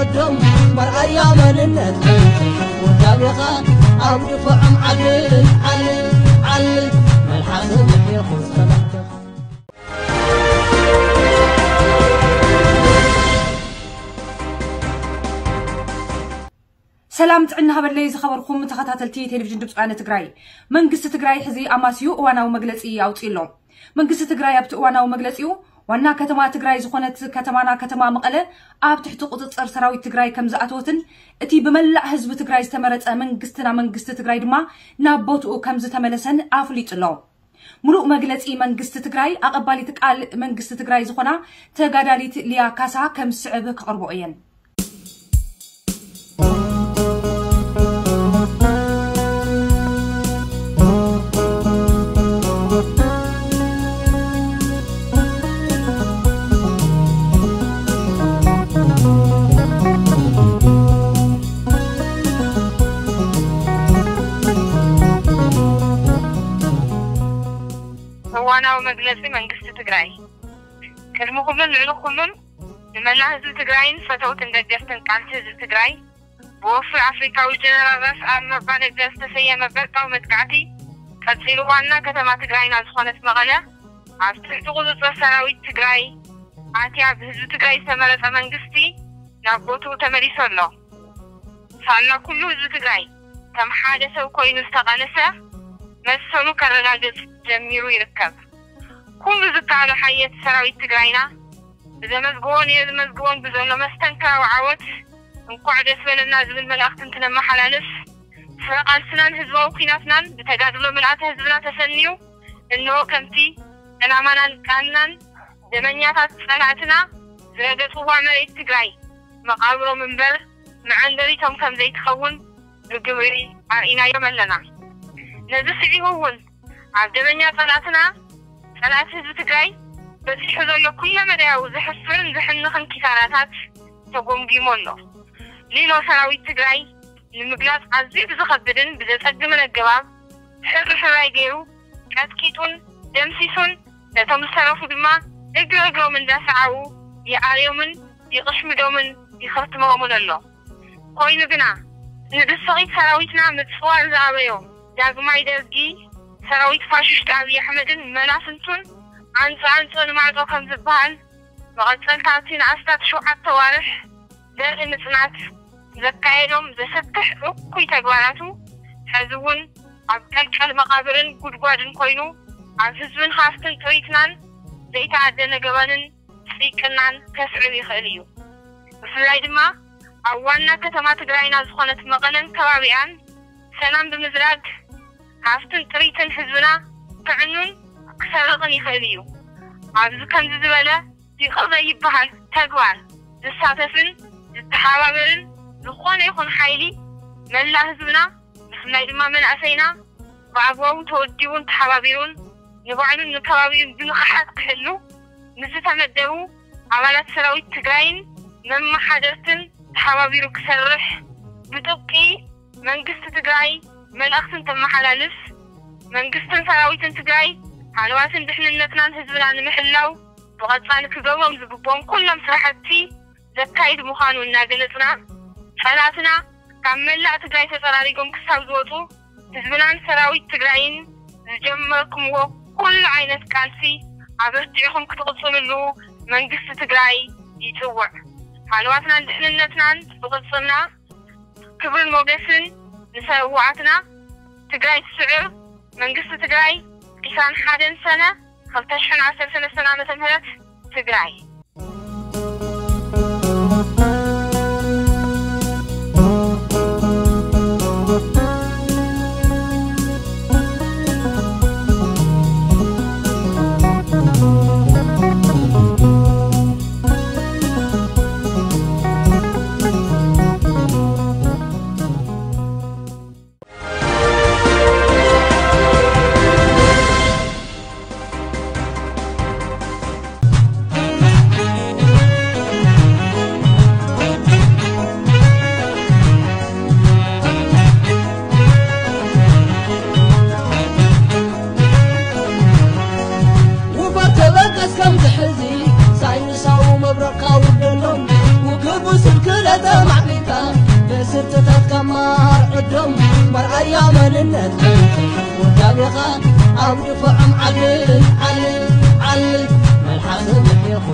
ዕዶም መርኣያ መንነት ውዳቤኻ ኣብ ድፍዖም ዓሊ ዓሊ ዓሊ መልሓስ ምሒርኩ ሰላምትኻ። ሰላም ጥዕና ሃበለይ ዝኸበርኩም ተኸታተልቲ ቴሌቪዥን ድምፂ ወያነ ትግራይ። መንግስቲ ትግራይ ሕዚ ኣማስዩ እዋናዊ መግለፂ ኣውፂኡ ኣሎ። መንግስቲ ትግራይ ኣብቲ እዋናዊ መግለፂኡ ዋና ከተማ ትግራይ ዝኾነት ከተማና ከተማ መቐለ ኣብ ትሕቲ ቁፅፅር ሰራዊት ትግራይ ከም ዝኣተወትን እቲ ብመላእ ህዝቢ ትግራይ ዝተመረፀ መንግስትና መንግስቲ ትግራይ ድማ ናብ ቦትኡ ከም ዝተመለሰን ኣፍሊጡ ኣሎ። ሙሉእ መግለፂ መንግስቲ ትግራይ ኣቐባሊት ቃል መንግስቲ ትግራይ ዝኾና ተጋዳሊት ሊያ ካሳ ከም ዝስዕብ ክቕርቦ እየን። እዋናዊ መግለፂ መንግስቲ ትግራይ። ቅድሚ ኩሉን ልዕሊ ኩሉን ንመላእ ህዝቢ ትግራይን ፈተውትን ደገፍትን ቃልሲ ህዝቢ ትግራይ ብወፍሪ ኣፍሪካዊ ጀነራል ራስ ኣሉላ ኣባ ነጋ ዝተሰየመ ብረታዊ መጥቃዕቲ ቀፂሉ ዋና ከተማ ትግራይና ዝኾነት መቐለ ኣብ ትሕቲ ቁፅፅር ሰራዊት ትግራይ ኣትያ ብህዝቢ ትግራይ ዝተመረፀ መንግስቲ ናብ ቦትኡ ተመሊሱ ኣሎ። ሳላ ኩሉ ህዝቢ ትግራይ ከም ሓደ ሰብ ኮይኑ ዝተቓለሰ መሰሉ ከረጋግፅ ጀሚሩ ይርከብ። ኩሉ ዝከኣሎ ሓየት ሰራዊት ትግራይና ብዘመዝግቦን የዝመዝግቦን ብዘሎ መስተንክራዊ ዓወት እንኳዕ ደስ በለና ዝብል መልእኽቲ እንትነመሓላልፍ፣ ፍረ ቃልስናን ህዝባዊ ኲናትናን ብተጋድሎ ምልኣተ ህዝብና ተሰንዩ እንሆ ከምቲ ዕላማናን ቃልናን ደመኛታት ጸላእትና ዝረገጽዋ መሬት ትግራይ መቓብሮም እምበር መዐንደሪቶም ከም ዘይትኸውን ብግብሪ ኣርኢናዮም ኣለና። ነዚ ስዒቡ እውን ኣብ ደመኛ ጸላእትና ጸላእቲ ህዝቢ ትግራይ በጺሑ ዘሎ ኩለመዳያዊ ዘሕፍርን ዘሕንኽን ኪሳራታት ተጎምጊሙ ኣሎ። ሊሎ ሰራዊት ትግራይ ንምግላጽ ኣዝዩ ብዝኸብድን ብዘጸግምን ኣገባብ ሕርሕራይ ገይሩ ቀጥቂጡን ደምሲሱን ነቶም ዝተረፉ ድማ እግሪ እግሮም እንዳሰዓቡ ይኣርዮምን ይቕሽምዶምን ይኸትሞምን ኣሎ። ኮይኑ ግና ንድስቒት ሰራዊትና ምጽዋር ዝኣበዮ ዳግማይ ደርጊ ሰራዊት ፋሽስት ኣብይ ኣሕመድን መላፍንቱን ኣንጾ ኣንጾ ንማዕጾ ከም ዝበሃል መቐጸልታ ኣብቲ ንኣስታት ሸውዓተ ኣዋርሕ ዘርኢ ምጽናት ዘካየዶም ዘሰክሕ እኩይ ተግባራቱ ሕዚ እውን ኣብ ቀልቀል መቓብርን ጉድጓድን ኮይኑ ኣብ ህዝብን ሃፍትን ጥሪትናን ዘይተኣደነ ገበንን ስይቅናን ከስዕብ ይኽእል እዩ። ብፍላይ ድማ ኣብ ዋና ከተማ ትግራይና ዝኾነት መቐለን ከባቢኣን ሰላም ብምዝራግ ሃፍትን ጥሪትን ህዝብና ክዕኑን ክሰርቕን ይኽእል እዩ። ኣብዚ ከምዚ ዝበለ ይቕር ዘይበሃል ተግባር ዝሳተፍን ዝተሓባበርን ዝኾነ ይኹን ሓይሊ መላእ ህዝብና ብፍላይ ድማ መናእሰይና ብኣግባቡ ተወዲቡን ተሓባቢሩን ንባዕሉን ንከባቢኡን ብንቕሓት ክሕሉ ምስ ዝተመደቡ ኣባላት ሰራዊት ትግራይን መመሓደርትን ተሓባቢሩ ክሰርሕ ብጥብቂ መንግስቲ ትግራይ መልእኽቲ እንተመሓላልፍ መንግስትን ሰራዊትን ትግራይ ሃለዋትን ድሕንነትናን ህዝብና ንምሕላው ብቐፃሊ ክገብሮም ዝግብኦም ኩሎም ስራሕቲ ዘካይድ ምዃኑ እናገለፅና ፀላእትና ካብ መላእ ትግራይ ተፀራሪጎም ክሳብ ዝወፁ ህዝብናን ሰራዊት ትግራይን ዝጀመርኩምዎ ኩሉ ዓይነት ቃልሲ ኣበርቲዕኹም ክትቕፅልሉ መንግስቲ ትግራይ ይፅውዕ። ሃለዋትናን ድሕንነትናን ብቕፅልና ክብርን ሞገስን ንሰውኣትና። ትግራይ ትስዕር። መንግስቲ ትግራይ ዕስራን ሓደን ሰነ ክልተ ሽሕን ዓሰርተ ሰለስተን ዓመተ ምህረት ትግራይ። ተታትካ ማር ዕዶም መርኣያ መንነት ውዳቤኻ ኣብ ድፍዖም ዓልል ዓልል ዓልል መልሓስ ምሕኹ